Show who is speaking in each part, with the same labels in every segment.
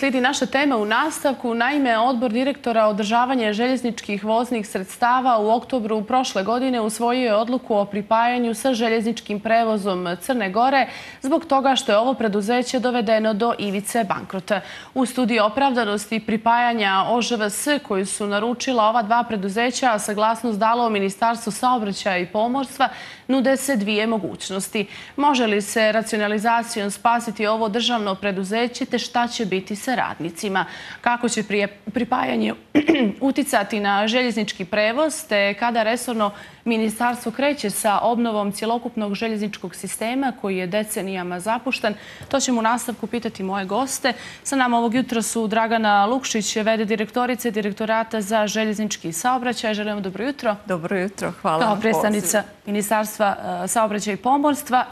Speaker 1: Slijedi naša tema u nastavku. Naime, Odbor direktora održavanja željezničkih voznih sredstava u oktobru prošle godine usvojio je odluku o pripajanju sa željezničkim prevozom Crne Gore zbog toga što je ovo preduzeće dovedeno do ivice bankrota. U studiji opravdanosti pripajanja OŽVS koju su naručila ova dva preduzeća, a saglasnost dalo Ministarstvo saobraćaja i pomorstva, nude se dvije mogućnosti. Može li se racionalizacijom spasiti ovo državno preduzeće te šta će biti sa radnicima? Kako će pripajanje uticati na željeznički prevoz te kada resorno ministarstvo kreće sa obnovom cjelokupnog željezničkog sistema koji je decenijama zapušten? To ćemo u nastavku pitati moje goste. Sa nama ovog jutra su Dragana Lukšić, v.d. direktorice Direktorata za željeznički saobraćaj. Želimo dobro jutro.
Speaker 2: Dobro jutro, hvala.
Speaker 1: Kao predstavnica Ministarstva saobraćaja i pomorstva.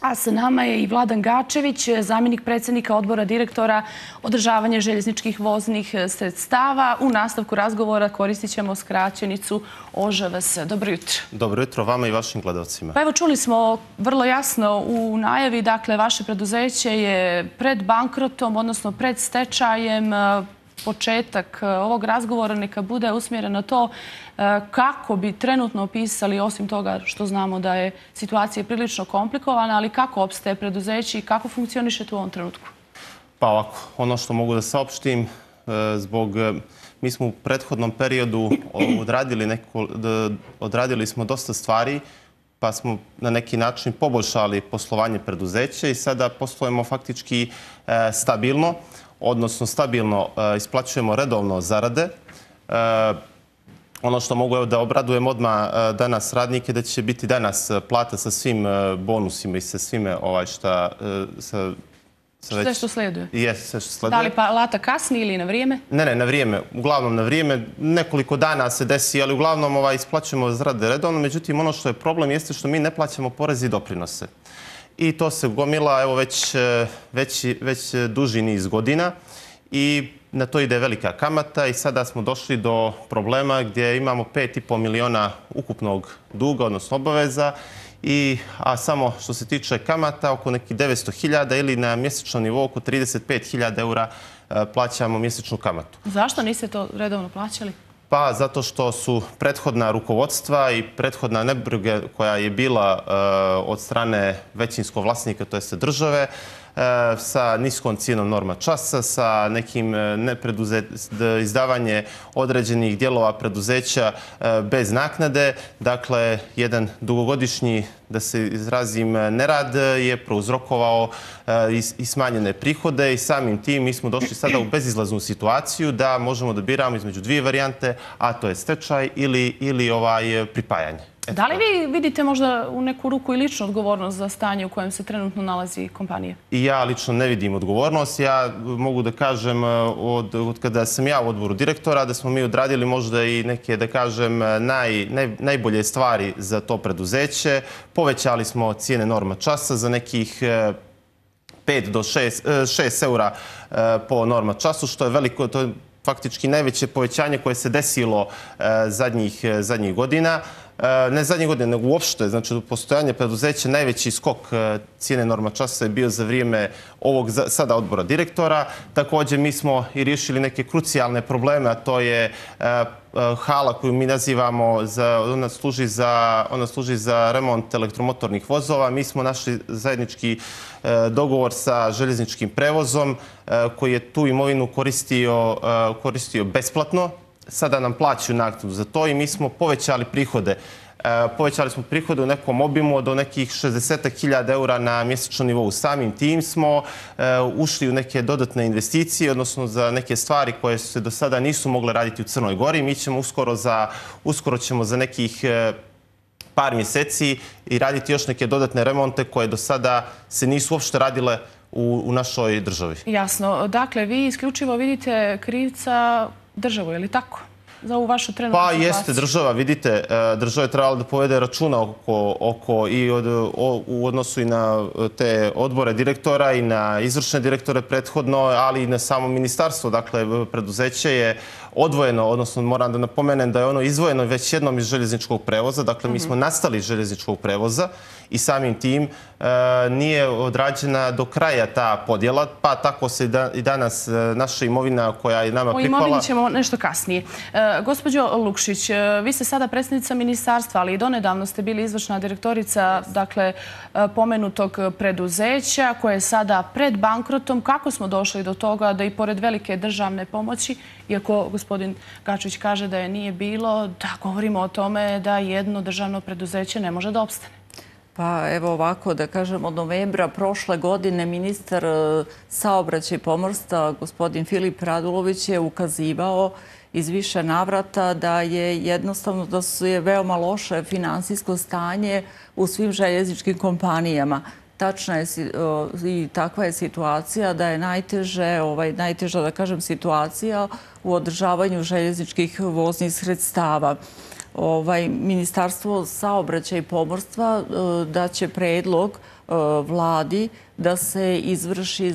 Speaker 1: A sa nama je i Vladan Gačević, zamjenik predsjednika Odbora direktora održavanja željezničkih voznih sredstava. U nastavku razgovora koristit ćemo skraćenicu OŽVS. Dobro jutro.
Speaker 3: Dobro jutro vama i vašim gledalcima.
Speaker 1: Pa evo, čuli smo vrlo jasno u najavi, dakle, vaše preduzeće je pred bankrotom, odnosno pred stečajem. Početak ovog razgovora neka bude usmjeren na to kako bi trenutno opisali, osim toga što znamo da je situacija prilično komplikovana, ali kako opstaje preduzeće i kako funkcionišete u ovom trenutku?
Speaker 3: Pa ovako, ono što mogu da saopštim, mi smo u prethodnom periodu odradili smo dosta stvari, pa smo na neki način poboljšali poslovanje preduzeća i sada poslujemo faktički stabilno, odnosno stabilno isplaćujemo redovno zarade. Ono što mogu da obradujem odmah danas radnike, da će biti danas plata sa svim bonusima i sa svime što...
Speaker 1: Sve što slijeduje?
Speaker 3: Jes, sve što slijeduje.
Speaker 1: Da li plata kasni ili na vrijeme?
Speaker 3: Ne, na vrijeme. Uglavnom na vrijeme. Nekoliko dana se desi, ali uglavnom isplaćujemo zarade redovno. Međutim, ono što je problem jeste što mi ne plaćamo poreze i doprinose. I to se gomila evo već duži niz godina i na to ide velika kamata i sada smo došli do problema gdje imamo 5,5 miliona ukupnog duga, odnosno obaveza, a samo što se tiče kamata oko nekih 900.000 ili na mjesečnom nivou oko 35.000 eura plaćamo mjesečnu kamatu.
Speaker 1: Zašto niste to redovno plaćali?
Speaker 3: Pa zato što su prethodna rukovodstva i prethodna nebriga koja je bila od strane većinskog vlasnika, to jest države, sa niskom cijenom norma časa, sa nekim izdavanje određenih dijelova preduzeća bez naknade. Dakle, jedan dugogodišnji, da se izrazim, nerad je prouzrokovao i smanjene prihode i samim tim mi smo došli sada u bezizlaznu situaciju da možemo da biramo između dvije varijante, a to je stečaj ili pripajanje.
Speaker 1: Da li vi vidite možda u neku ruku i ličnu odgovornost za stanje u kojem se trenutno nalazi kompanija?
Speaker 3: I ja lično ne vidim odgovornost. Ja mogu da kažem od kada sam ja u odboru direktora da smo mi odradili možda i neke, da kažem, najbolje stvari za to preduzeće. Povećali smo cijene norma časa za nekih 5 do 6 eura po norma času, što je veliko, to je faktički najveće povećanje koje se desilo zadnjih godina. Ne zadnjih godina, nego uopšte. Znači, u postojanju preduzeća najveći skok cijene norma časa je bio za vrijeme ovog sada odbora direktora. Također, mi smo i riješili neke krucijalne probleme, a to je hala koju mi nazivamo, ona služi za remont elektromotornih vozova. Mi smo našli zajednički dogovor sa željezničkim prevozom koji je tu imovinu koristio besplatno. Sada nam plaćaju naknadu za to i mi smo povećali prihode. Povećali smo prihode u nekom obimu do nekih 60.000 eura na mjesečnom nivou. Samim tim smo ušli u neke dodatne investicije, odnosno za neke stvari koje se do sada nisu mogle raditi u Crnoj Gori. Mi ćemo uskoro ćemo za nekih par mjeseci i raditi još neke dodatne remonte koje do sada se nisu uopšte radile u našoj državi.
Speaker 1: Jasno. Dakle, vi isključivo vidite krivca državu, je li tako? za ovu vašu trenutnu
Speaker 3: Pa
Speaker 1: situaciju?
Speaker 3: jeste država, vidite, država je trebala da povede računa u odnosu i na te odbore direktora i na izvršne direktore prethodno, ali i na samo ministarstvo. Dakle, preduzeće je odvojeno, odnosno moram da napomenem da je ono izdvojeno već jednom iz željezničkog prevoza. Dakle, mi smo nastali iz željezničkog prevoza i samim tim nije odrađena do kraja ta podjela, pa tako se i danas naša imovina koja je nama pripala...
Speaker 1: O imovini ćemo nešto kasnije. Gospođo Lukšić, vi ste sada predsjednica ministarstva, ali i donedavno ste bili izvršna direktorica, dakle, pomenutog preduzeća koje je sada pred bankrotom. Kako smo došli do toga da i pored velike državne pomoći, iako gospodin Gačević kaže da je nije bilo, da govorimo o tome da jedno državno preduzeće ne može da opstane?
Speaker 2: Pa evo ovako da kažem, od novembra prošle godine ministar saobraćaja i pomorstva, gospodin Filip Radulović, je ukazivao iz više navrata da je jednostavno da je veoma loše finansijsko stanje u svim željezničkim kompanijama. Tačna je i takva je situacija da je najteža, da kažem, situacija u održavanju željezničkih voznih sredstava. Ministarstvo saobraćaja i pomorstva daće predlog vladi da se izvrši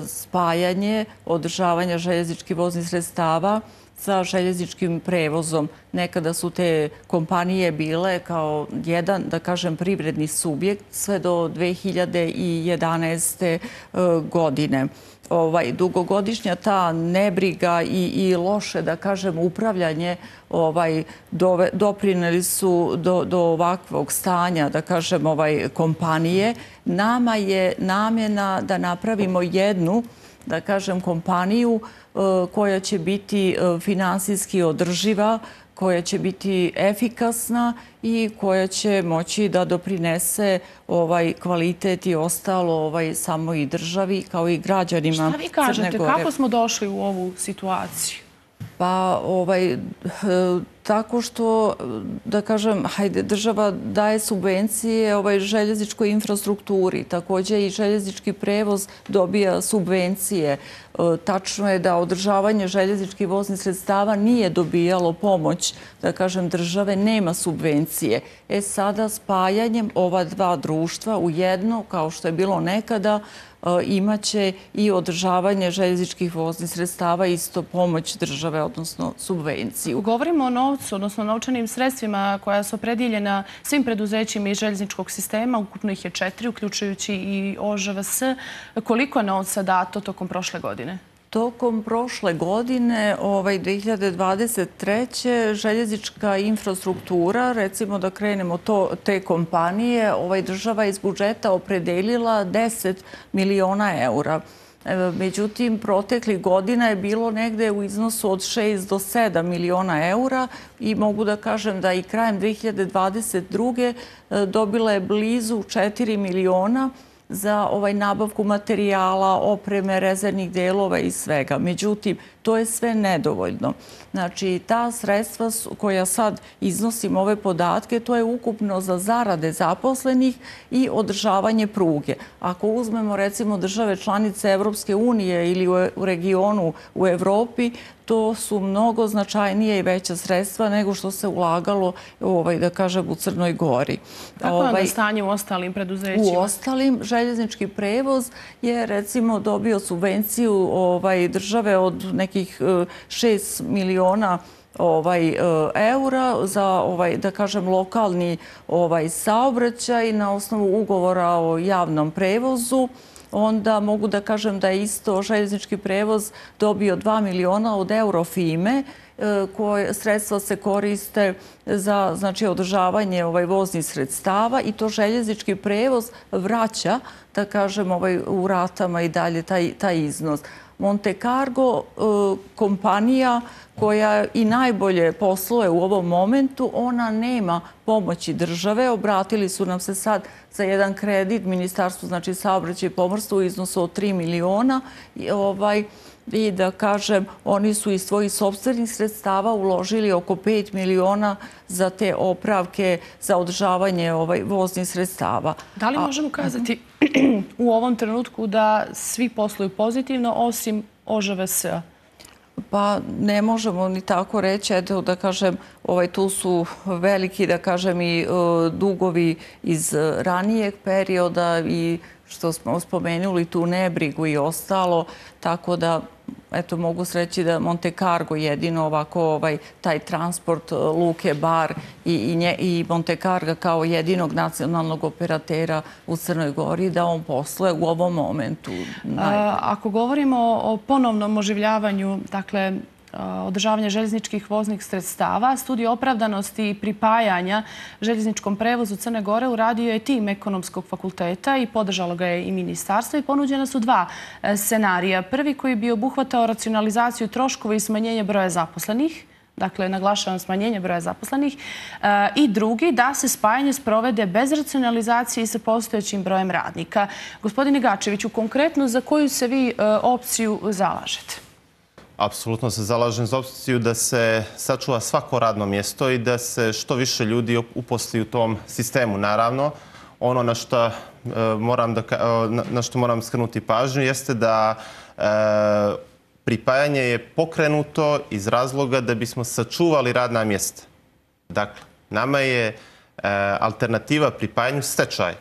Speaker 2: spajanje održavanja željezničkih voznih sredstava sa željezničkim prevozom. Nekada su te kompanije bile kao jedan, da kažem, privredni subjekt sve do 2011. godine. Dugogodišnja ta nebriga i loše, da kažem, upravljanje doprineli su do ovakvog stanja, da kažem, kompanije. Nama je namjena da napravimo jednu, da kažem, kompaniju koja će biti finansijski održiva, koja će biti efikasna i koja će moći da doprinese kvalitet i ostalo samoj državi kao i građanima Crne Gore.
Speaker 1: Šta vi kažete? Kako smo došli u ovu situaciju?
Speaker 2: Pa tako što, da kažem, država daje subvencije željezničkoj infrastrukturi. Također i željeznički prevoz dobija subvencije. Tačno je da održavanje željezničkih voznih sredstava nije dobijalo pomoć, da kažem, države, nema subvencije. Sada spajanjem ova dva društva u jedno, kao što je bilo nekada, imaće i održavanje željezničkih voznih sredstava, isto pomoć države, odnosno subvenciju.
Speaker 1: Govorimo o novcu, odnosno novčanim sredstvima koja su opredjeljena svim preduzećima iz željezničkog sistema. Ukupno ih je 4, uključujući i OŽVS. Koliko je novca dato tokom prošle godine?
Speaker 2: Tokom prošle godine, 2023. željeznička infrastruktura, recimo da krenemo te kompanije, država iz budžeta opredelila 10 miliona eura. Međutim, proteklih godina je bilo negde u iznosu od 6 do 7 miliona eura i mogu da kažem da i krajem 2022. dobila je blizu 4 miliona za nabavku materijala, opreme, rezervnih delova i svega. Međutim, to je sve nedovoljno. Znači, ta sredstva koja sad iznosim ove podatke, to je ukupno za zarade zaposlenih i održavanje pruge. Ako uzmemo, recimo, države članice Evropske unije ili u regionu u Evropi, to su mnogo značajnije i veća sredstva nego što se ulagalo, da kažem, u Crnoj Gori.
Speaker 1: Kako je onda stanje u ostalim preduzećima?
Speaker 2: U ostalim, željeznički prevoz je, recimo, dobio subvenciju države od nekih 6 miliona eura za, da kažem, lokalni saobraćaj na osnovu ugovora o javnom prevozu. Onda mogu da kažem da je isto željeznički prevoz dobio 2 miliona od Eurofime, koje sredstva se koriste za održavanje voznih sredstava i to željeznički prevoz vraća, da kažem, u ratama i dalje taj iznos. Monte Cargo, kompanija koja i najbolje posluje u ovom momentu, ona nema pomoći države. Obratili su nam se sad za jedan kredit Ministarstvu saobraćaja i pomorstva u iznosu od 3 miliona i da kažem, oni su iz svojih sopstvenih sredstava uložili oko 5 miliona za te opravke za održavanje voznih sredstava.
Speaker 1: Da li možemo kazati u ovom trenutku da svi posluju pozitivno osim OŽVS-a?
Speaker 2: Pa ne možemo ni tako reći, eto da kažem, tu su veliki, da kažem, i dugovi iz ranijeg perioda i što smo spomenuli tu nebrigu i ostalo, tako da eto, mogu reći da Monte Cargo jedino ovako taj transport Luke Bar i Monte Carga kao jedinog nacionalnog operatera u Crnoj Gori, da on posluje u ovom momentu.
Speaker 1: Ako govorimo o ponovnom oživljavanju, dakle, održavanja željezničkih voznih sredstava, studiju opravdanosti i pripajanja željezničkom prevozu Crne Gore uradio je tim Ekonomskog fakulteta i podržalo ga je i ministarstvo i ponuđena su dva scenarija. Prvi koji bi obuhvatao racionalizaciju troškova i smanjenje broja zaposlenih, dakle, naglašavam smanjenje broja zaposlenih, i drugi da se spajanje sprovede bez racionalizacije i sa postojećim brojem radnika. Gospodine Gačeviću, konkretno za koju se vi opciju zalažete?
Speaker 3: Apsolutno se zalažem za opciju da se sačuva svako radno mjesto i da se što više ljudi uposli u tom sistemu. Naravno, ono na što moram skrenuti pažnju jeste da pripajanje je pokrenuto iz razloga da bismo sačuvali radna mjesta. Dakle, nama je alternativa pripajanju stečaj.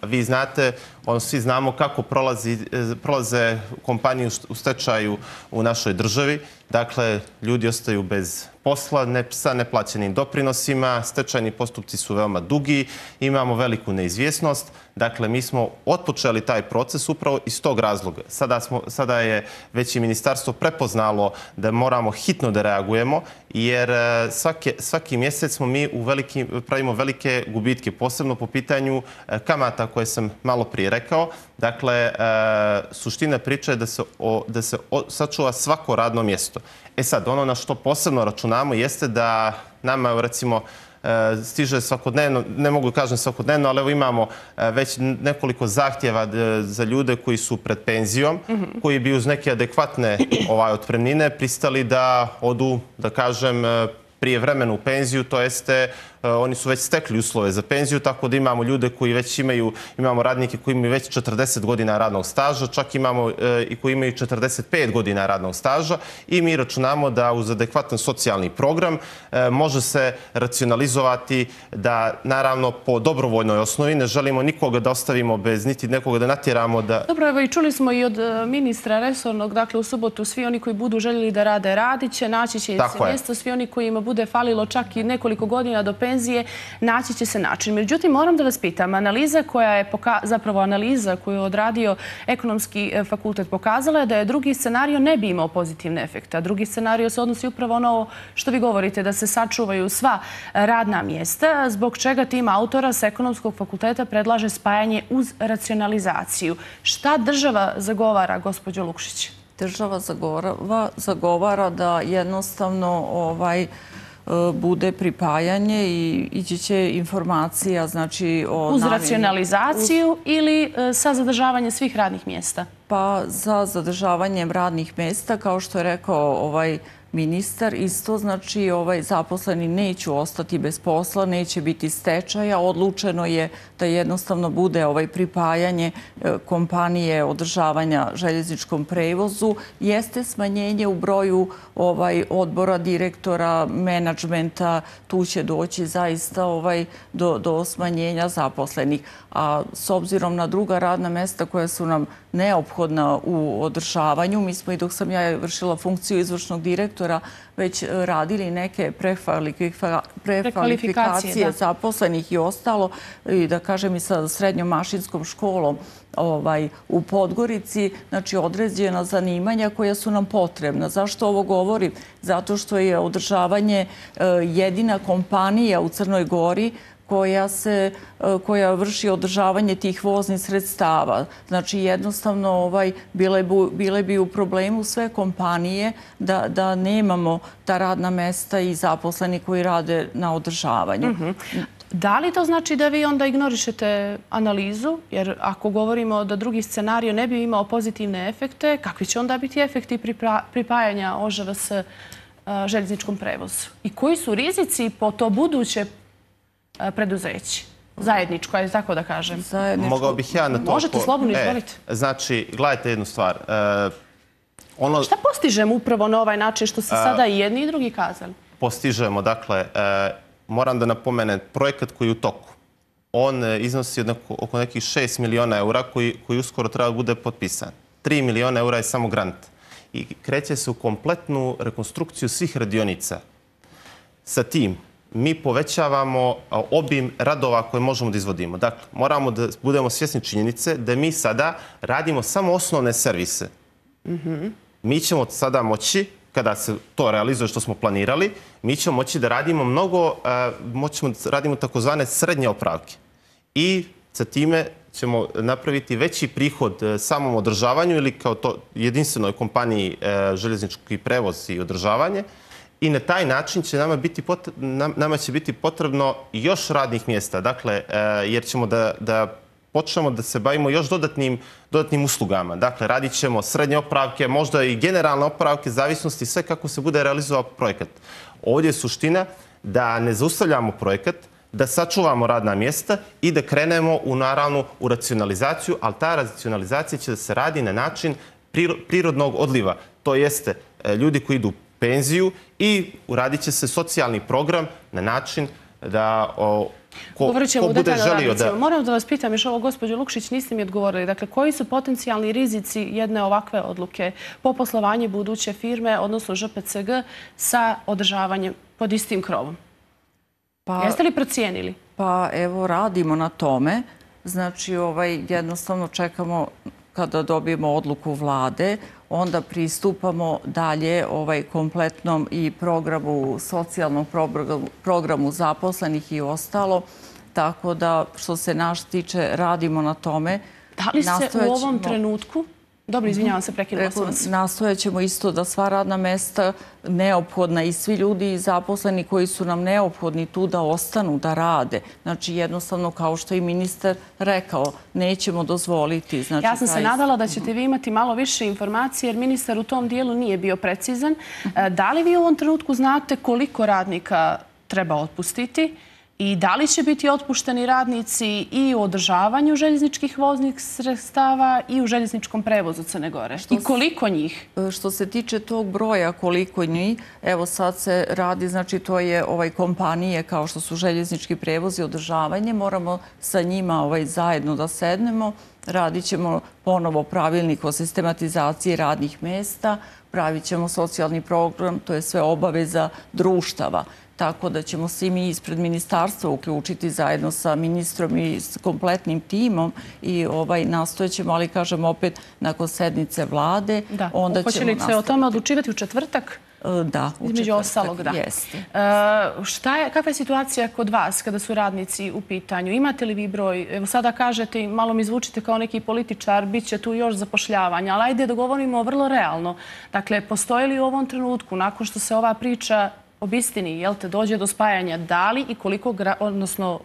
Speaker 3: Vi znate, svi znamo kako prolaze kompanije u stečaju u našoj državi. Dakle, ljudi ostaju bez posla, sa neplaćenim doprinosima, stečajni postupci su veoma dugi, imamo veliku neizvjesnost. Dakle, mi smo otpočeli taj proces upravo iz tog razloga. Sada je već i ministarstvo prepoznalo da moramo hitno da reagujemo, jer svaki mjesec mi pravimo velike gubitke, posebno po pitanju kamata koje sam malo prije rekao. Dakle, suština priče je da se sačuva svako radno mjesto. Sad, ono na što posebno računamo jeste da nama, recimo, stiže svakodnevno, ne mogu kažem svakodnevno, ali evo imamo već nekoliko zahtjeva za ljude koji su pred penzijom, koji bi uz neke adekvatne otpremnine pristali da odu, da kažem, prije vremena u penziju, to jeste oni su već stekli uslove za penziju, tako da imamo ljude koji već imamo radnike koji imaju već 40 godina radnog staža, čak imamo i koji imaju 45 godina radnog staža i mi računamo da uz adekvatan socijalni program može se racionalizovati da, naravno, po dobrovoljnoj osnovi ne želimo nikoga da ostavimo bez niti nekoga da natjeramo da...
Speaker 1: Dobro, evo i čuli smo i od ministra resornog, dakle u subotu svi oni koji budu željeli da rade, radit će, naći će se mjesto, svi oni kojima bude falilo čak i nekoliko godina do penzije, naći će se način. Međutim, moram da vas pitam, analiza koju je odradio Ekonomski fakultet pokazala je da je drugi scenario ne bi imao pozitivne efekte. A drugi scenario se odnosi upravo ono što vi govorite, da se sačuvaju sva radna mjesta, zbog čega tim autora s Ekonomskog fakulteta predlaže spajanje uz racionalizaciju. Šta država zagovara, gospođo Lukšić?
Speaker 2: Država zagovara da jednostavno bude pripajanje i ići će informacija, znači o namjeni.
Speaker 1: Uz racionalizaciju ili sa zadržavanjem svih radnih mjesta?
Speaker 2: Pa za zadržavanjem radnih mjesta, kao što je rekao ministar, isto znači zaposleni neće ostati bez posla, neće biti stečaja. Odlučeno je da jednostavno bude pripajanje kompanije održavanja željezničkom prevozu. Jeste smanjenje u broju odbora, direktora, menadžmenta. Tu će doći zaista do smanjenja zaposlenih. A s obzirom na druga radna mjesta koja su nam neophodna u održavanju, mi smo i dok sam ja vršila funkciju izvršnog direktora već radili neke prekvalifikacije zaposlenih i ostalo, i da kažem i sa srednjom mašinskom školom u Podgorici, znači određena zanimanja koja su nam potrebna. Zašto ovo govorim? Zato što je održavanje jedina kompanija u Crnoj Gori koja vrši održavanje tih voznih sredstava. Znači, jednostavno bile bi u problemu sve kompanije da nemamo ta radna mesta i zaposleni koji rade na održavanju.
Speaker 1: Da li to znači da vi onda ignorišete analizu? Jer ako govorimo da drugi scenario ne bi imao pozitivne efekte, kakvi će onda biti efekti pripajanja OŽVS željezničkom prevozu? I koji su rizici po to buduće preduzeće? Zajedničko, ajde tako da kažem.
Speaker 3: Mogao bih ja na to...
Speaker 1: Možete slobodno, izvolite.
Speaker 3: Znači, gledajte jednu stvar.
Speaker 1: Šta postižemo upravo na ovaj način što se sada i jedni i drugi kazali?
Speaker 3: Postižemo, dakle, moram da napomenem, projekat koji je u toku, on iznosi oko nekih 6 miliona eura koji uskoro treba da bude potpisan. 3 miliona eura je samo grant. I kreće se u kompletnu rekonstrukciju svih radionica. Sa tim, mi povećavamo obim radova koje možemo da izvodimo. Dakle, moramo da budemo svjesni činjenice da mi sada radimo samo osnovne servise. Mi ćemo sada moći, kada se to realizuje što smo planirali, mi ćemo moći da radimo radimo takozvane srednje opravke. I sa time ćemo napraviti veći prihod samom održavanju ili kao to jedinstvenoj kompaniji željeznički prevoz i održavanje. I na taj način će nama će biti potrebno još radnih mjesta. Dakle, jer ćemo da počnemo da se bavimo još dodatnim uslugama. Dakle, radit ćemo srednje opravke, možda i generalne opravke, zavisnosti sve kako se bude realizovao projekat. Ovdje je suština da ne zaustavljamo projekat, da sačuvamo radna mjesta i da krenemo u racionalizaciju, ali ta racionalizacija će da se radi na način prirodnog odliva. To jeste ljudi koji idu u penziju i uradit će se socijalni program na način da ko bude želio da...
Speaker 1: Moram da vas pitam još ovo, gospođo Lukšić, niste mi odgovorili. Dakle, koji su potencijalni rizici jedne ovakve odluke po poslovanju buduće firme, odnosno ŽPCG, sa održavanjem pod istim krovom? Jeste li procijenili?
Speaker 2: Pa evo, radimo na tome. Znači, jednostavno čekamo kada dobijemo odluku vlade, onda pristupamo dalje kompletnom i programu, socijalnom programu zaposlenih i ostalo. Tako da, što se naš tiče, radimo na tome.
Speaker 1: Da li se u ovom trenutku... Dobro, izvinjavam se, prekinula sam vas.
Speaker 2: Nastojat ćemo isto da sva radna mesta neophodna i svi ljudi zaposleni koji su nam neophodni tu da ostanu, da rade. Znači, jednostavno, kao što je ministar rekao, nećemo dozvoliti.
Speaker 1: Ja sam se nadala da ćete vi imati malo više informacije, jer ministar u tom dijelu nije bio precizan. Da li vi u ovom trenutku znate koliko radnika treba otpustiti? I da li će biti otpušteni radnici i u održavanju željezničkih voznih sredstava i u željezničkom prevozu Crne Gore? I koliko njih?
Speaker 2: Što se tiče tog broja, koliko njih, evo sad se radi, znači to je kompanije kao što su željeznički prevoz i održavanje. Moramo sa njima zajedno da sednemo. Radit ćemo ponovo pravilnik o sistematizaciji radnih mjesta. Pravit ćemo socijalni program, to je sve obaveza društava. Tako da ćemo svi mi ispred ministarstva uključiti zajedno sa ministrom i s kompletnim timom i nastojat ćemo, ali kažem opet, nakon sednice vlade.
Speaker 1: Da, hoće li se o tome odlučivati u četvrtak?
Speaker 2: Da, u
Speaker 1: između ostalog, da.
Speaker 2: Jeste.
Speaker 1: Kakva je situacija kod vas kada su radnici u pitanju? Imate li vi broj? Evo sada kažete i malo mi zvučite kao neki političar, bit će tu još zapošljavanja, ali ajde da govorimo vrlo realno. Dakle, postoji li u ovom trenutku, nakon što se ova priča obistini, dođe do spajanja, da li i koliko, odnosno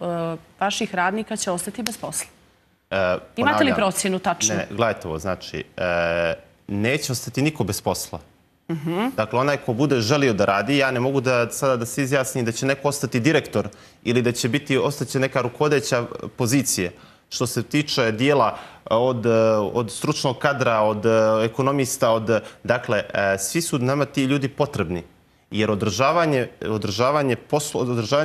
Speaker 1: vaših radnika će ostati bez posla? Imate li procjenu tačno?
Speaker 3: Ne, gledajte ovo, znači, neće ostati niko bez posla. Dakle, onaj ko bude želio da radi, ja ne mogu sada da se izjasnim da će neko ostati direktor ili da će ostaće neka rukovodeća pozicija. Što se tiče dijela od stručnog kadra, od ekonomista, dakle, svi su nama ti ljudi potrebni. Jer održavanje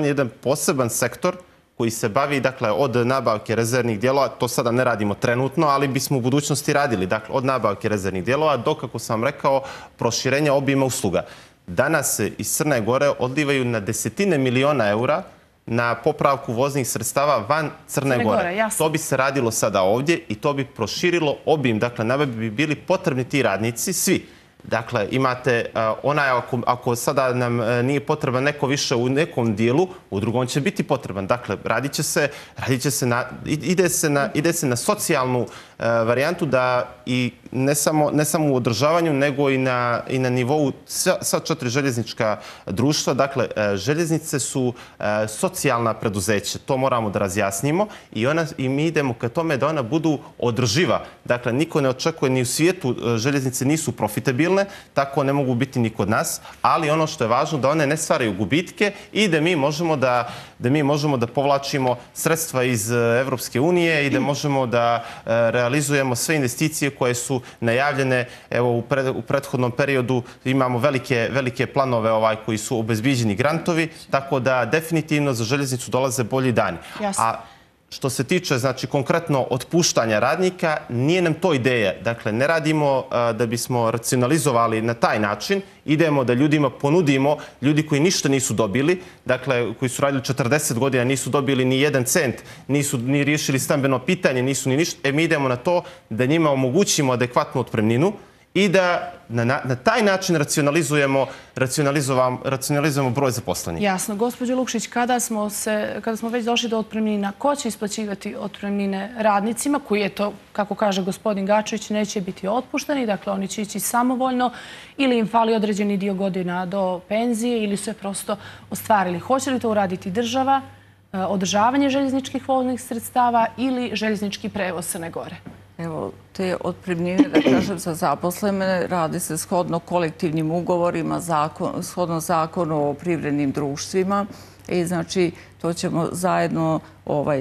Speaker 3: je jedan poseban sektor koji se bavi, dakle, od nabavke rezervnih dijelova, to sada ne radimo trenutno, ali bismo u budućnosti radili, dakle, od nabavke rezervnih dijelova do, kako sam rekao, proširenja obima usluga. Danas se iz Crne Gore odlivaju na desetine miliona eura na popravku voznih sredstava van Crne Gore. To bi se radilo sada ovdje i to bi proširilo obim, dakle, nama bi bili potrebni ti radnici, svi. Dakle, imate ako sada nam nije potreban neko više u nekom dijelu, u drugom će biti potreban. Dakle, ide se na socijalnu varijantu da i ne samo u održavanju, nego i na nivou sva 4 željeznička društva. Dakle, željeznice su socijalna preduzeća. To moramo da razjasnimo i mi idemo ka tome da ona budu održiva. Dakle, niko ne očekuje, ni u svijetu željeznice nisu profitabilne, tako ne mogu biti ni kod nas, ali ono što je važno da one ne stvaraju gubitke i da mi možemo da povlačimo sredstva iz Evropske unije i da možemo da realizujemo realizujemo sve investicije koje su najavljene. Evo, u prethodnom periodu imamo velike planove koji su obezbiđeni grantovi, tako da definitivno za željeznicu dolaze bolji dani. A što se tiče, znači, konkretno otpuštanja radnika, nije nam to ideja. Dakle, ne radimo da bismo racionalizovali na taj način. Idemo da ljudima ponudimo, ljudi koji ništa nisu dobili, dakle, koji su radili 40 godina, nisu dobili ni 1 cent, nisu ni riješili stambeno pitanje, nisu ni ništa. Mi idemo na to da njima omogućimo adekvatnu otpremninu i da na taj način racionalizujemo broj zaposlenih.
Speaker 1: Jasno. Gospođo Lukšić, kada smo već došli do otpremnina, ko će isplaćivati otpremnine radnicima, koji je to, kako kaže gospodin Gačević, neće biti otpušteni, dakle oni će ići samovoljno ili im fali određeni dio godina do penzije ili su je prosto ostvarili? Hoće li to uraditi država, održavanje željezničkih voznih sredstava ili željeznički prevoz Crne Gore?
Speaker 2: Evo, te otpremnine, da kažem, za zaposlene radi se shodno kolektivnim ugovorima, shodno zakonu o privrednim društvima. I znači, to ćemo zajedno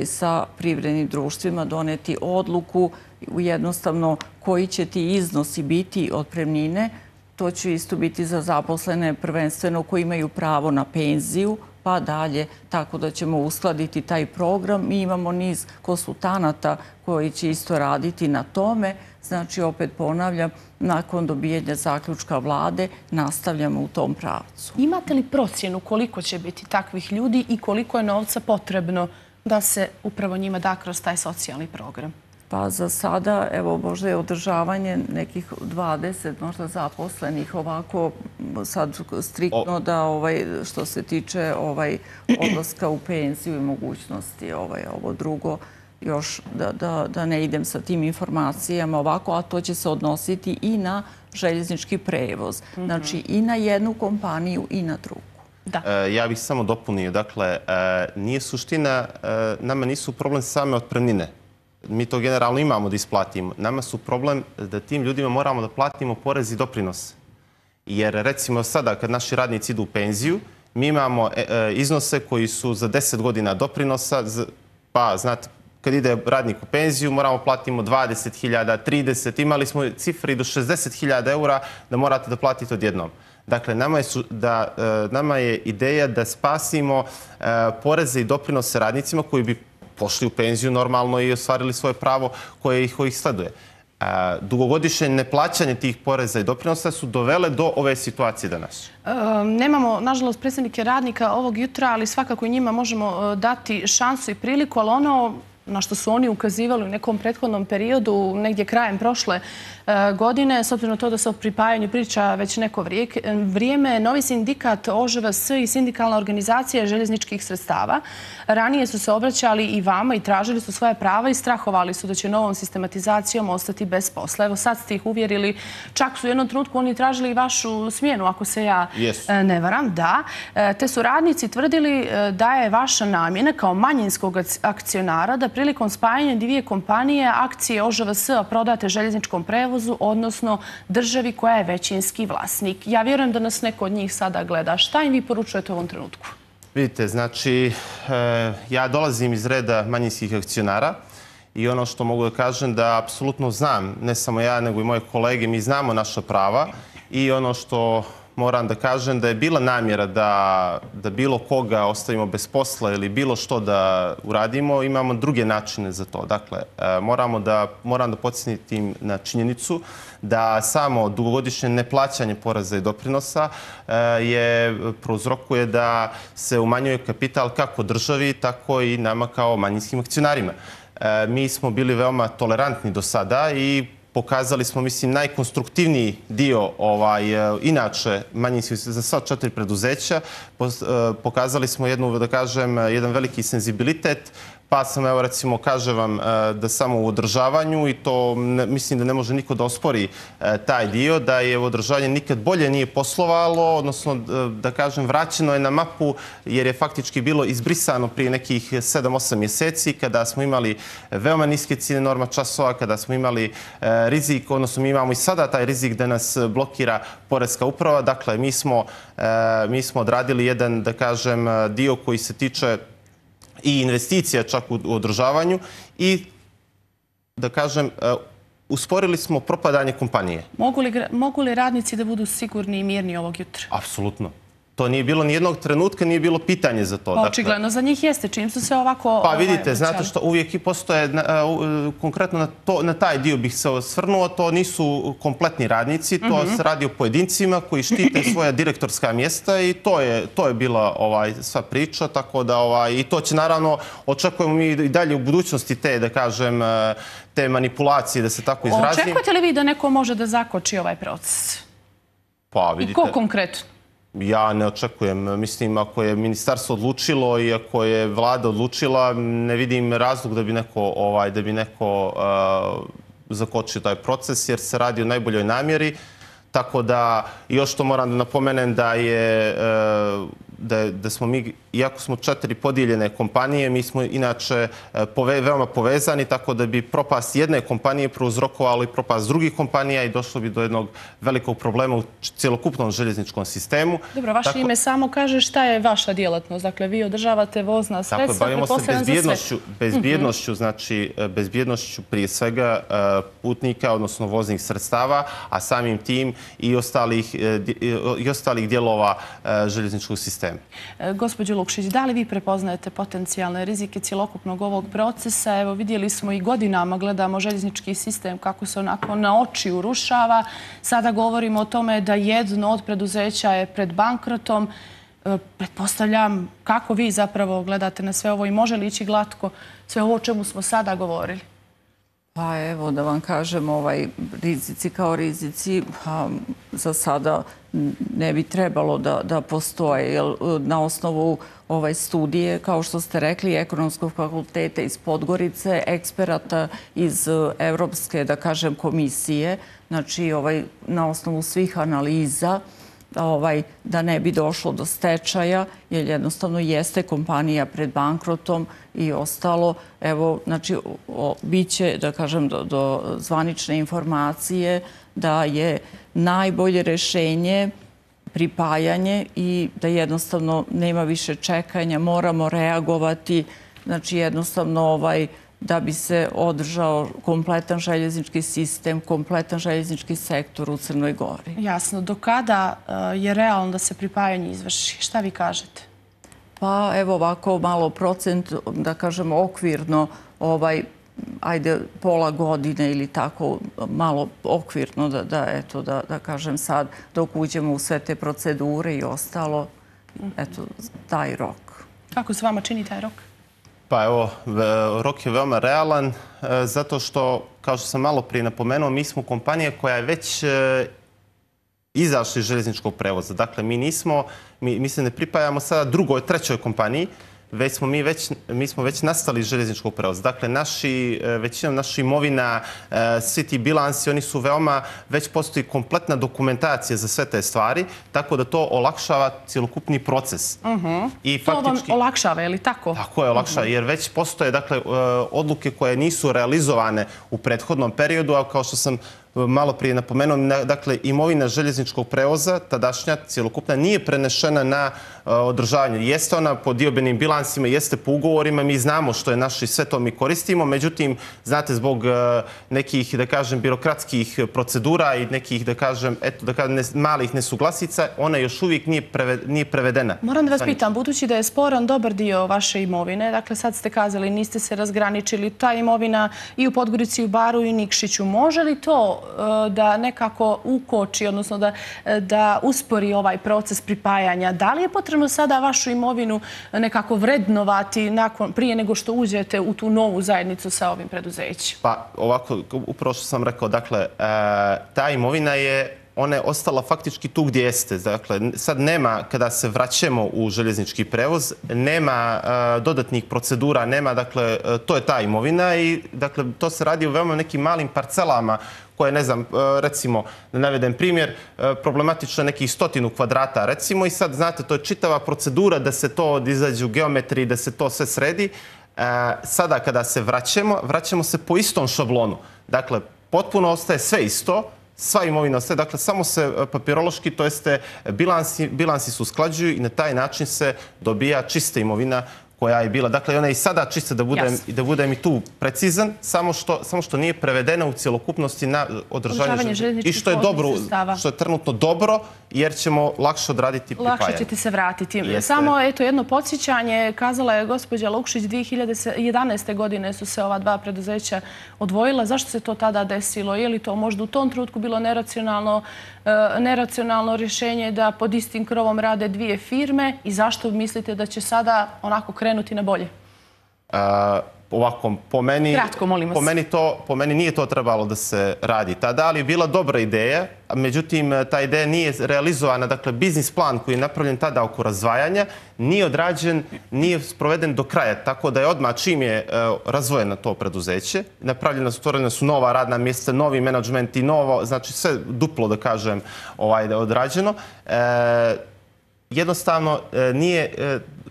Speaker 2: sa privrednim društvima doneti odluku jednostavno koji će ti iznosi biti otpremnine. To će isto biti za zaposlene prvenstveno koji imaju pravo na penziju, pa dalje, tako da ćemo uskladiti taj program. Mi imamo niz konsultanata koji će isto raditi na tome. Znači, opet ponavljam, nakon dobijanja zaključka vlade nastavljamo u tom pravcu.
Speaker 1: Imate li procjenu koliko će biti takvih ljudi i koliko je novca potrebno da se upravo njima da kroz taj socijalni program?
Speaker 2: Pa za sada, evo, možda je održavanje nekih 20 možda zaposlenih ovako sad striktno da što se tiče odlaska u penziju i mogućnosti ovo drugo još da ne idem sa tim informacijama ovako, a to će se odnositi i na željeznički prevoz. Znači i na jednu kompaniju i na drugu.
Speaker 3: Ja bih samo dopunio. Dakle, nije suština, nama nisu problem same otpremnine. Mi to generalno imamo da isplatimo. Nama su problem da tim ljudima moramo da platimo porez i doprinos. Jer recimo sada kad naši radnici idu u penziju, mi imamo iznose koji su za 10 godina doprinosa, pa znate, kad ide radnik u penziju moramo platimo 20.000, 30, imali smo cifre i do 60.000 eura da morate da platite odjednom. Dakle, nama je ideja da spasimo poreze i doprinose radnicima koji bi pošli u penziju normalno i ostvarili svoje pravo koje ih sleduje. Dugogodišnje neplaćanje tih poreza i doprinosa su dovele do ove situacije danas.
Speaker 1: Nemamo, nažalost, predstavnike radnika ovog jutra, ali svakako i njima možemo dati šansu i priliku, ali ono na što su oni ukazivali u nekom prethodnom periodu, negdje krajem prošle godine, s obzirom na to da se o pripajanju priča već neko vrijeme, novi sindikat OŽVS i sindikalna organizacija željezničkih sredstava ranije su se obraćali i vama i tražili su svoje prava i strahovali su da će novom sistematizacijom ostati bez posla. Evo sad ste ih uvjerili, čak su u jednom trenutku oni tražili i vašu smjenu, ako se ja ne varam, da. Te su radnici tvrdili da je vaša namjena kao manjinskog akcionara da prilikom spajanja dvije kompanije akcije OŽVS-a prodate željezničkom prevozu, odnosno državi koja je većinski vlasnik. Ja vjerujem da nas neko od njih sada gleda. Šta im vi poručujete u ovom trenutku?
Speaker 3: Vidite, znači, ja dolazim iz reda manjinskih akcionara i ono što mogu da kažem da apsolutno znam, ne samo ja nego i moje kolege, mi znamo naša prava i ono što moram da kažem da je bila namjera da bilo koga ostavimo bez posla ili bilo što da uradimo, imamo druge načine za to. Dakle, moram da podsjetim na činjenicu da samo dugogodišnje neplaćanje poreza i doprinosa prouzrokuje da se umanjuje kapital kako državi, tako i nama kao manjinskim akcionarima. Mi smo bili veoma tolerantni do sada i pokazali smo, mislim, najkonstruktivniji dio inače manjinskih za sva 4 preduzeća. Pokazali smo jedan veliki senzibilitet, pa sam, evo recimo, kaže vam da samo u održavanju, i to mislim da ne može niko da ospori taj dio, da je održavanje nikad bolje nije poslovalo, odnosno da kažem vraćeno je na mapu jer je faktički bilo izbrisano prije nekih 7-8 mjeseci kada smo imali veoma niske cijene norma časova, kada smo imali rizik, odnosno mi imamo i sada taj rizik da nas blokira Poreska uprava. Dakle, mi smo odradili jedan, da kažem, dio koji se tiče i investicija čak u održavanju i da kažem, usporili smo propadanje kompanije.
Speaker 1: Mogu li radnici da budu sigurni i mirni ovog jutra?
Speaker 3: Apsolutno. To nije bilo ni jednog trenutka, nije bilo pitanje za to.
Speaker 1: Očigledno za njih jeste, čim su se ovako...
Speaker 3: Pa vidite, znate što uvijek i postoje, konkretno na taj dio bih se osvrnuo, to nisu kompletni radnici, to se radi o pojedincima koji štite svoja direktorska mjesta i to je bila sva priča, tako da i to će naravno, očekujemo mi i dalje u budućnosti te, da kažem, te manipulacije, da se tako izrazim.
Speaker 1: Očekujete li vi da neko može da zakoči ovaj proces?
Speaker 3: Pa vidite...
Speaker 1: I ko konkretno?
Speaker 3: Ja ne očekujem. Mislim, ako je ministarstvo odlučilo i ako je vlada odlučila, ne vidim razlog da bi neko zakočio taj proces, jer se radi o najboljoj namjeri. Tako da, još to moram da napomenem da smo mi, iako smo 4 podijeljene kompanije, mi smo inače veoma povezani, tako da bi propast jedne kompanije prouzrokovalo i propast drugih kompanija i došlo bi do jednog velikog problema u cjelokupnom željezničkom sistemu.
Speaker 1: Dobro, vaše ime samo kaže šta je vaša djelatnost. Dakle, vi održavate vozna sredstva.
Speaker 3: Tako, bavimo se bezbjednošću, znači bezbjednošću prije svega putnika, odnosno voznih sredstava, a samim tim i ostalih dijelova željezničkog sistema.
Speaker 1: Gospođo Lukšić, da li vi prepoznajete potencijalne rizike cjelokupnog ovog procesa? Evo, vidjeli smo i godinama, gledamo željeznički sistem kako se onako na oči urušava. Sada govorimo o tome da jedno od preduzeća je pred bankrotom. Pretpostavljam kako vi zapravo gledate na sve ovo i može li ići glatko sve ovo o čemu smo sada govorili?
Speaker 2: Pa evo da vam kažem, rizici kao rizici za sada ne bi trebalo da postoje. Jer na osnovu studije, kao što ste rekli, Ekonomskog fakulteta iz Podgorice, eksperata iz Evropske, da kažem, komisije, znači na osnovu svih analiza, da ne bi došlo do stečaja, jer jednostavno jeste kompanija pred bankrotom i ostalo. Evo, znači, biće, da kažem, do zvanične informacije da je najbolje rješenje pripajanje i da jednostavno nema više čekanja, moramo reagovati, znači jednostavno da bi se održao kompletan željeznički sistem, kompletan željeznički sektor u Crnoj Gori.
Speaker 1: Jasno. Do kada je realno da se pripajanje izvrši? Šta vi kažete?
Speaker 2: Pa evo ovako malo procent, da kažem okvirno, ajde pola godine ili tako malo okvirno da kažem sad dok uđemo u sve te procedure i ostalo, eto taj rok.
Speaker 1: Kako se vama čini taj rok?
Speaker 3: Pa evo, rok je veoma realan, zato što, kao što sam malo prije napomenuo, mi smo kompanija koja je već izašla iz željezničkog prevoza. Dakle, mi se ne pripajamo sada drugoj, trećoj kompaniji, mi smo već nastali iz željezničkog prevoza. Dakle, većinom naša imovina, svi ti bilansi, oni su veoma, već postoji kompletna dokumentacija za sve te stvari, tako da to olakšava cjelokupni proces.
Speaker 1: To vam olakšava, je li tako?
Speaker 3: Tako je, olakšava, jer već postoje odluke koje nisu realizovane u prethodnom periodu, a kao što sam malo prije napomenuo, dakle, imovina željezničkog prevoza, tadašnja, cjelokupna, nije prenešena na održavanje. Jeste ona po diobenim bilansima, jeste po ugovorima, mi znamo što je naše i sve to mi koristimo, međutim, znate, zbog nekih, da kažem, birokratskih procedura i nekih, da kažem, malih nesuglasica, ona još uvijek nije prevedena.
Speaker 1: Moram da vas pitam, budući da je sporan dobar dio vaše imovine, dakle, sad ste kazali, niste se razgraničili, ta imovina i u Podgorici, i u Baru, i Nikšiću, može li to da nekako ukoči, odnosno da uspori ovaj proces pripajanja? Da li je potrebno sada vašu imovinu nekako vrednovati prije nego što uđete u tu novu zajednicu sa ovim preduzećem?
Speaker 3: Pa ovako, upravo što sam rekao, dakle, ta imovina ona je ostala faktički tu gdje jeste. Dakle, sad nema, kada se vraćamo u željeznički prevoz, nema dodatnih procedura, nema, dakle, to je ta imovina i, dakle, to se radi u veoma nekim malim parcelama koje, ne znam, recimo, da navedem primjer, problematično nekih 100 kvadrata, recimo, i sad, znate, to je čitava procedura da se to izađe u geometriji, da se to sve sredi. Sada, kada se vraćamo se po istom šablonu. Dakle, potpuno ostaje sve isto, sva imovina ostaje, dakle, samo se papirološki, to jeste bilansi se usklađuju i na taj način se dobija čista imovina koja je bila. Dakle, ona je i sada čista da budem i tu precizan, samo što nije prevedena u cjelokupnosti na održavanje
Speaker 1: željezničkih
Speaker 3: i što je dobro,
Speaker 1: sredstava.
Speaker 3: što je trenutno dobro, jer ćemo lakše odraditi pripajanje.
Speaker 1: Lakše ćete se vratiti. Samo jedno podsjećanje, kazala je gospođa Lukšić, 2011. godine su se ova dva preduzeća odvojila. Zašto se to tada desilo? Je li to možda u tom trenutku bilo neracionalno rješenje da pod istim krovom rade dvije firme i zašto mislite da će sada onako krenuti na bolje?
Speaker 3: Ovako,
Speaker 1: kratko, molim vas.
Speaker 3: Po meni nije to trebalo da se radi tada, ali je bila dobra ideja. Međutim, ta ideja nije realizovana. Dakle, biznis plan koji je napravljen tada oko razdvajanja nije odrađen, nije sproveden do kraja. Tako da je odmah čim je razvojeno to preduzeće, stvorena su nova radna mjesta, novi menadžment i novo, znači sve duplo, da kažem, odrađeno. Jednostavno,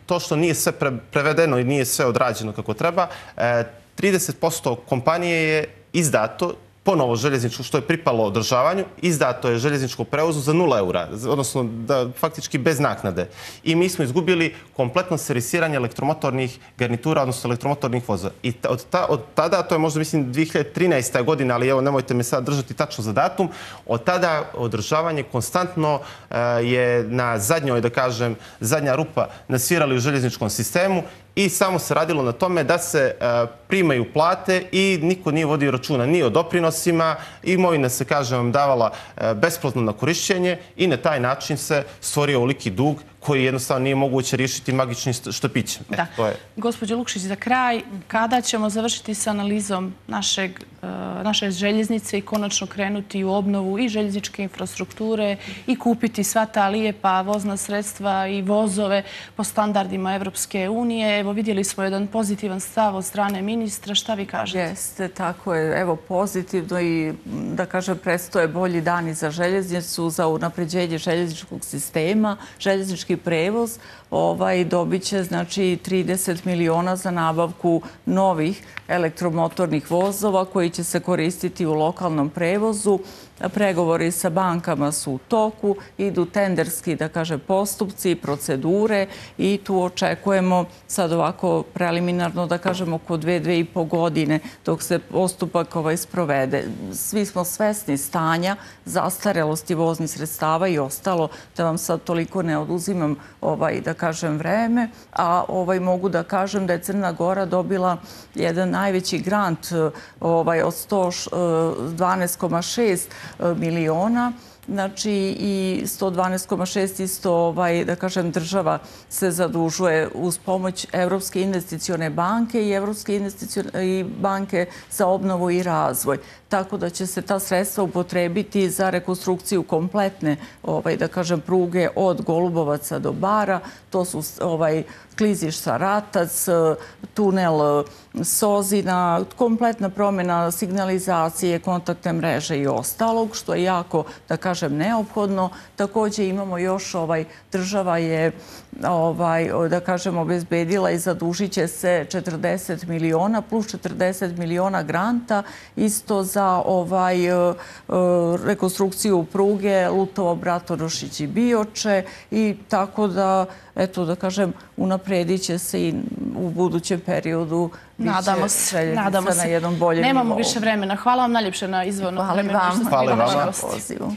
Speaker 3: to što nije sve prevedeno i nije sve odrađeno kako treba, 30% kompanije je izdato ponovo željezničko, što je pripalo održavanju, izdato je željezničko prevozu za 0 eura, odnosno faktički bez naknade. I mi smo izgubili kompletno servisiranje elektromotornih garnitura, odnosno elektromotornih vozova. I od tada, to je možda mislim 2013. godina, ali evo nemojte me sad držati tačno za datum, od tada održavanje konstantno je na zadnjoj, da kažem, zadnja rupa nasvirali u željezničkom sistemu i samo se radilo na tome da se primaju plate i niko nije vodio računa ni o doprinosima, imovina se, kažem vam, davala besplatno na korišćenje i na taj način se stvorio ovoliki dug koji jednostavno nije moguće riješiti magičnim štapićem.
Speaker 1: Da. Gospođo Lukšić, za kraj, kada ćemo završiti s analizom naše željeznice i konačno krenuti u obnovu i željezničke infrastrukture i kupiti sva ta lijepa vozna sredstva i vozove po standardima Evropske unije? Evo, vidjeli smo jedan pozitivan stav od strane ministra. Šta vi kažete?
Speaker 2: Jeste, tako je. Evo, pozitivno i, da kažem, predstoje bolji dani za željeznicu, za unapređenje željezničkog sistema, željeznički prevoz dobit će, znači, 30 miliona za nabavku novih elektromotornih vozova koji će se koristiti u lokalnom prevozu. Pregovori sa bankama su u toku, idu tenderski, da kažem, postupci, procedure i tu očekujemo sad ovako preliminarno, da kažem, oko 2,5 godine dok se postupak sprovede. Svi smo svesni stanja, zastarelosti voznih sredstava i ostalo, da vam sad toliko ne oduzimam, da kažem, vreme, a mogu da kažem da je Crna Gora dobila jedan najveći grant od 112,6 miliona, znači i 112,6 isto, da kažem, država se zadužuje uz pomoć Evropske investicione banke i Evropske banke za obnovu i razvoj. Tako da će se ta sredstva upotrebiti za rekonstrukciju kompletne, da kažem, pruge od Golubovaca do Bara. To su klizišta Ratac, tunel Sozina, kompletna promjena signalizacije, kontaktne mreže i ostalog, što je jako, da kažem, neophodno. Također imamo još, država je, da kažem, obezbedila i zadužit će se 40 miliona plus 40 miliona granta isto za rekonstrukciju pruge Lutovo, Bratorošić i Bioče i tako da, eto, da kažem, unapredit će se i u budućem periodu
Speaker 1: nadamo se na jednom boljem nivou. Nemamo više vremena. Hvala vam najljepše na izvornom vremenu.
Speaker 2: Hvala vam na pozivu.